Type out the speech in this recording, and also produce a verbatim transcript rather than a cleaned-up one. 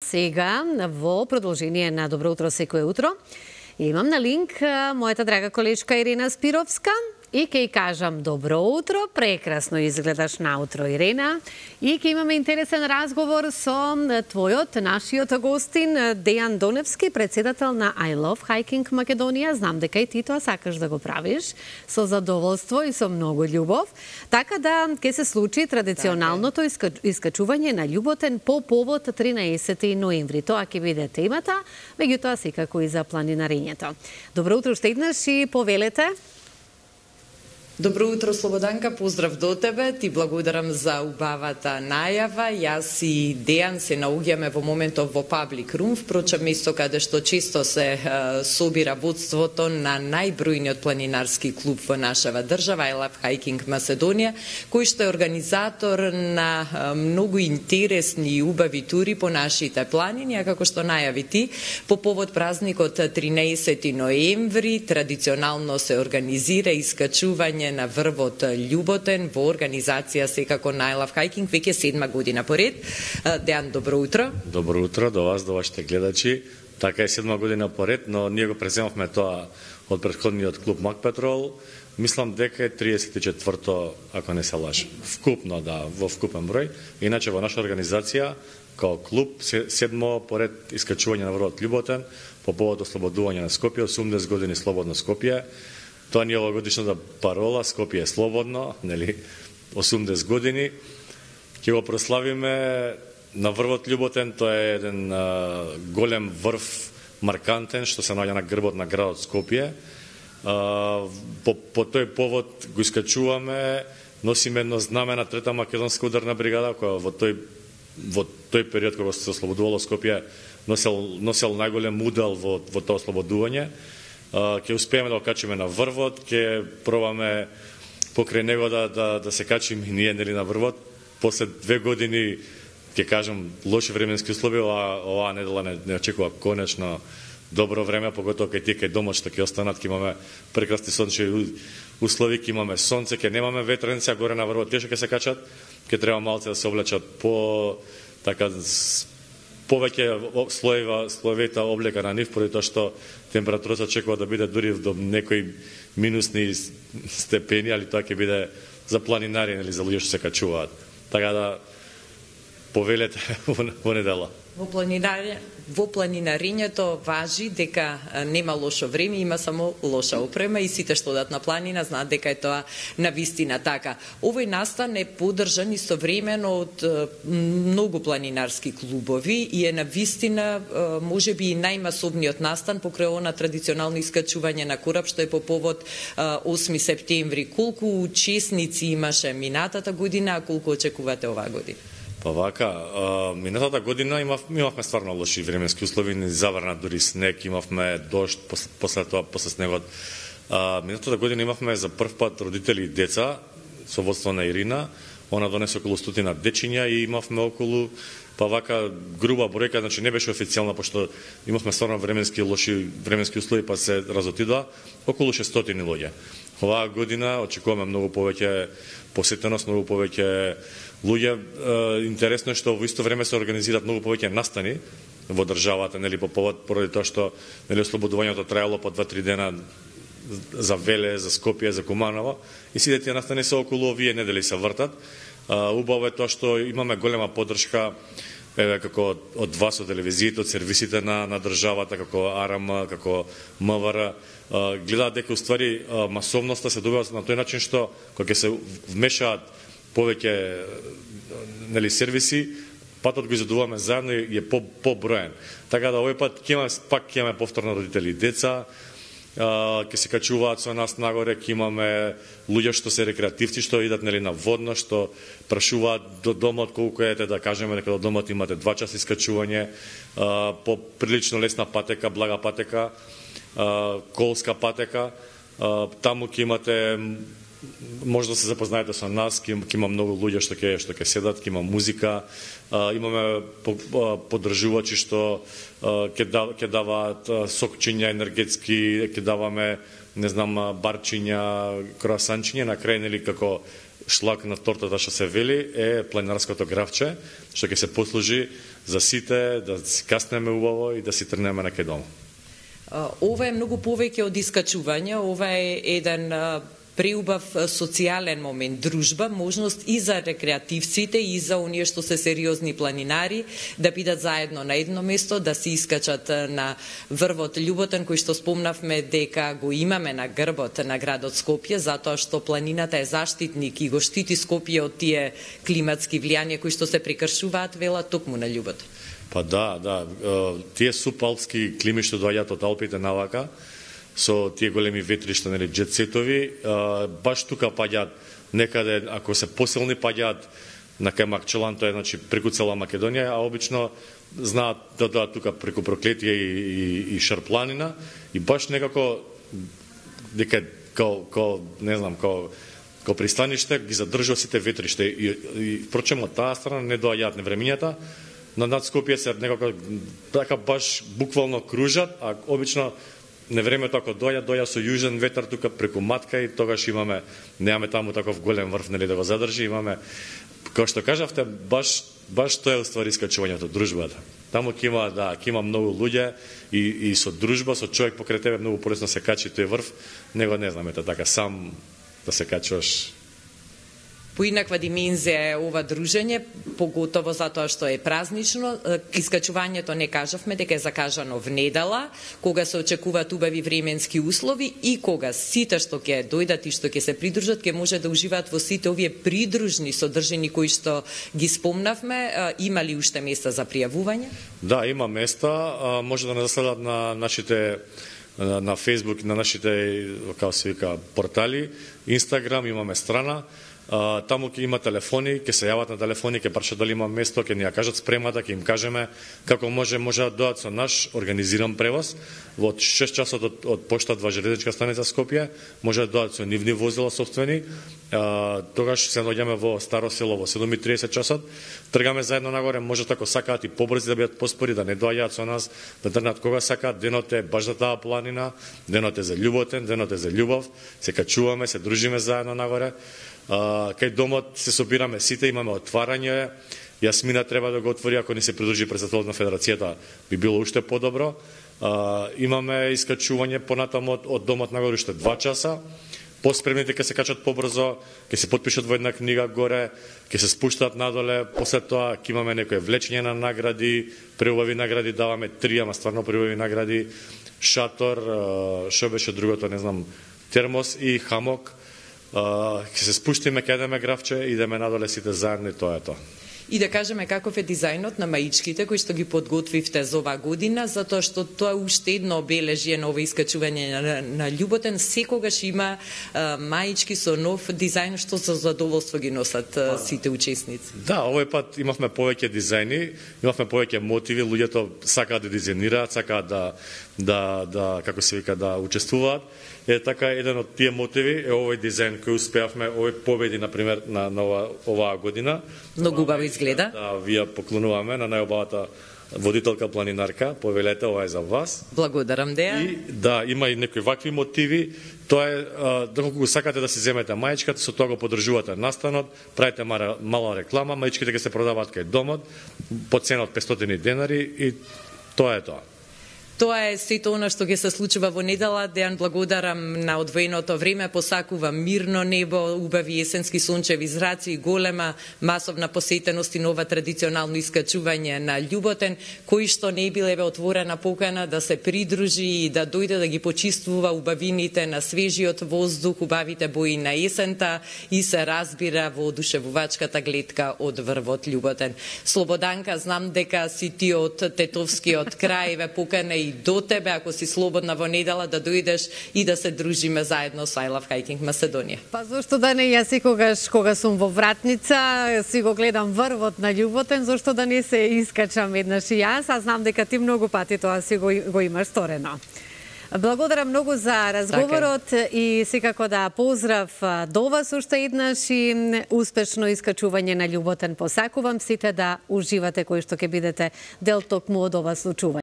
сега во продолжение на Добро утро секое утро. Имам на линк мојата драга колешка Ирена Спировска и ќе ја кажам добро утро, прекрасно изгледаш наутро Ирена, и ќе имаме интересен разговор со твојот, нашиот гостин Дејан Доневски, председател на I Love Hiking Македонија. Знам дека и ти тоа сакаш да го правиш со задоволство и со многу љубов. Така да ќе се случи традиционалното искачување на љуботен по повод тринаесети ноември. Тоа ќе биде темата, меѓутоа секако и за планинарењето. Добро утро уште еднаш и повелете. Добро утро, Слободанка, поздрав до тебе, ти благодарам за убавата најава. Јас и Дејан се наоѓаме во моментов во Паблик Рум, впрочем место каде што често се е, собира водството на најбројниот планинарски клуб во нашава држава, I Love Hiking Macedonија, кој што е организатор на е, многу интересни и убави тури по нашите планини, а како што најави ти, по повод празникот тринаесети ноември, традиционално се организира искачување на врвот љуботен во организација секако на I Love Hiking веќе седма година поред. Дејан, добро утро. Добро утро до вас, до вашите гледачи. Така е седма година поред, но ние го преземавме тоа од претходниот клуб Макпетрол. Мислам дека е триесет и четврто, ако не се лажам. Вкупно, да, во вкупен број. Иначе во наша организација, као клуб, седмо поред искачување на врвот љуботен по повод ослободување на Скопје, осумдесет години слободно Скопје. Тоа ни е овогодишната парола, Скопје е слободно, нели, осумдесет години. Ќе го прославиме на врвот љуботен, тоа е еден а, голем врв, маркантен, што се наоѓа на грбот на градот Скопје. А, по, по тој повод го искачуваме, носиме едно знаме на трета македонска ударна бригада, која во тој, во тој период кога се ослободувало Скопје, носел, носел најголем удел во, во тоа ослободување. Uh, ќе успееме да го качиме на врвот, ќе пробаме покрај него да, да, да се качиме и ние, нели, на врвот. После две години, ќе кажам, лоши временски услови, ова, оваа недела не, не очекува конечно добро време, поготово кај тие кај домот што ќе останат, ќе имаме прекрасни сончеви услови, ќе имаме сонце, ќе немаме ветренци, а горе на врвот тие што ќе се качат, ќе треба малце да се облечат по така повеќе слоева, слоевита облека на нив, поради тоа што температурата очекува да биде дури до некои минусни степени, али тоа ќе биде за планинари или за луѓе што се качуваат. Така да повелете во недела. Во планинари, во планинарењето важи дека нема лошо време, има само лоша опрема и сите што одат на планина знаат дека е тоа навистина така. Овој настан е поддржан истовремено од многу планинарски клубови и е навистина можеби и најмасовниот настан покрај она традиционално искачување на кораб што е по повод осми септември. Колку учесници имаше минатата година, а колку очекувате оваа година? Па вака, а, минатата година имав, имавме стварно лоши временски услови, ни заврна дури снег, имавме дожд, после, после тоа, после снегот. А, минатата година имавме за прв пат родители и деца, со водство на Ирина, она донесе околу стотина дечиња и имавме околу, па вака, груба бројка, значи не беше официјална, пошто имавме стварно временски лоши временски услови, па се разотидоа, околу шестстотини луѓе. Оваа година очекуваме многу повеќе посетеност, многу повеќе луѓе. Интересно е што во исто време се организираат многу повеќе настани во државата, нели, по повод поради тоа што, нели, ослободувањето траело по два-три дена за Веле, за Скопје, за Куманово, и сите тие настани се околу овие недели се вртат. Убаво е тоа што имаме голема поддршка, еве, како од вас, од телевизиите, од сервисите на, на државата, како А Р М, како М В Р, гледаат дека уствари масовноста се добива на тој начин што кога ќе се вмешаат повеќе, нели, сервиси, патот го изедуваме заедно и е по поброен. Така да овој пат ќе имаме пак ќе имаме повторно родители и деца, ќе се качуваат со нас нагоре, ќе имаме луѓе што се рекреативци, што идат, нели, на водно, што прашуваат до домот колку ете, да кажеме дека до домот имате два часа искачување, по прилично лесна патека, блага патека, колска патека, таму ќе имате, може да се запознаете со нас, ќе има многу луѓе што ќе што ќе седат, ќе има музика, имаме поддржувачи што ќе да, ќе даваат сокчиња енергетски, ќе даваме, не знам, барчиња, круасанчиња, на крај, нели, како шлак на тортата што се вели е планинарското гравче, што ќе се послужи за сите да си каснеме убаво и да си тргнеме на кај дома. Ова е многу повеќе од искачување, ова е еден преубав социјален момент, дружба, можност и за рекреативците и за оние што се сериозни планинари да бидат заедно на едно место, да се искачат на врвот Љуботен, кој што спомнавме дека го имаме на грбот на градот Скопје, затоа што планината е заштитник и го штити Скопје од тие климатски влијанија кои што се прекршуваат, вела токму на Љуботен. Па да, да, тие супалпски клими што доаѓаат од Алпите навака, со тие големи ветришта, нели, джетсетови, баш тука паѓаат некаде, ако се посилни паѓаат на кај Макчелан, тоа е значи преку цела Македонија, а обично знаат да доаѓаат тука преку Проклетија и, и, и Шарпланина, и баш некако дека као, као не знам, као као пристаниште ги задржува сите ветришта и, и впрочем од таа страна не доаѓаат невремињата, на над Скопје се некако така баш буквално кружат, а обично невремето ако доаѓа, доаѓа со јужен ветар тука преку Матка и тогаш имаме, немаме таму таков голем врв, нели, да го задржи, имаме, како што кажавте, баш баш тоа е уствари искачувањето, дружбата. Таму ќе има, да, ќе има многу луѓе и, и со дружба, со човек покрај тебе многу полесно се качи тој врв, него не знам, ето така сам да се качуваш. Поинаква димензија е ова дружење, поготово затоа што е празнично. Искачувањето не кажавме дека е закажано внедела, кога се очекуваат убави временски услови и кога сите што ќе дојдат и што ќе се придружат, ќе може да уживаат во сите овие придружни содржини кои што ги спомнавме. Има ли уште места за пријавување? Да, има места. Може да не заследат на нашите на Facebook, на нашите, како се вика, портали, Instagram, имаме страна. Uh, таму ќе има телефони, ќе се јават на телефони, ќе прашат дали има место, ќе ни ја кажат спремата, ќе им кажеме како може, може да дојдат со наш организиран превоз. Во шест часот од, од поштат во железничка станица Скопје, може да дојдат со нивни возила собствени. Uh, тогаш се наоѓаме во Старо село во седум и триесет часот. Тргаме заедно нагоре, може ако сакаат и побрзи да бидат поспори, да не доаѓаат со нас, да тргнат кога сакаат. Денот е баш за таа планина, денот е за љуботен, денот е за љубов. Се качуваме, се дружиме заедно нагоре. Uh, кај домот се собираме сите, имаме отварање. Јасмина треба да го отвори, ако не се придружи председателот на федерацијата, би било уште подобро. Uh, имаме искачување понатаму од, од домот нагоре уште два часа. Поспремните ќе се качат побрзо, ќе се потпишат во една книга горе, ќе се спуштат надоле, после тоа ќе имаме некој влечење на награди, преубави награди, даваме три, ама стварно преубави награди, шатор, uh, шо беше другото, не знам, термос и хамок. Uh, ќе се спуштиме, ќе едеме гравче, идеме надоле сите заедно и тоа е тоа. И да кажеме каков е дизајнот на маичките кои што ги подготвивте за оваа година, затоа што тоа е уште едно обележје на ова искачување на, на Љуботен. Секогаш има uh, маички со нов дизајн што за задоволство ги носат uh, сите учесници. Да, овој пат имавме повеќе дизајни, имавме повеќе мотиви, луѓето сакаат да дизајнираат, сакаат да да да како се вика да учествуваат. Е така еден од тие мотиви е овој дизајн кој успеавме, овој победи на пример на, на ова, оваа година. Многу убаво изгледа. Да, вие поклонуваме на најубавата водителка планинарка, повелете, ова е за вас. Благодарам, Деја. И да, има и некои вакви мотиви. Тоа е, доколку го сакате да си земете маичката, со тоа го поддржувате настанот, правите мала, мала реклама, маичките ќе се продаваат кај домот по цена од петстотини денари и тоа е тоа. Тоа е сето она што ќе се случува во недела. Дејан, благодарам на одвоеното време, посакувам мирно небо, убави есенски сончеви зраци и голема масовна посетеност и нова традиционално искачување на Љуботен, кој што не биле отворена покана да се придружи и да дојде да ги почиствува убавините на свежиот воздух, убавите бои на есента и се разбира во одушевувачката гледка од врвот Љуботен. Слободанка, знам дека си ти од тетовскиот крај, ве покана и до тебе, ако си слободна во недела, да дојдеш и да се дружиме заедно со I Love Hiking Macedonија. Па зошто да не, јас секогаш кога сум во Вратница, си го гледам врвот на Љуботен, зошто да не се искачам еднаш и јас, а знам дека ти многу пати тоа си го, го имаш сторено. Благодарам многу за разговорот така. И секако да поздрав до вас уште еднаш и успешно искачување на Љуботен посакувам сите да уживате кои што ќе бидете дел токму од ова случување.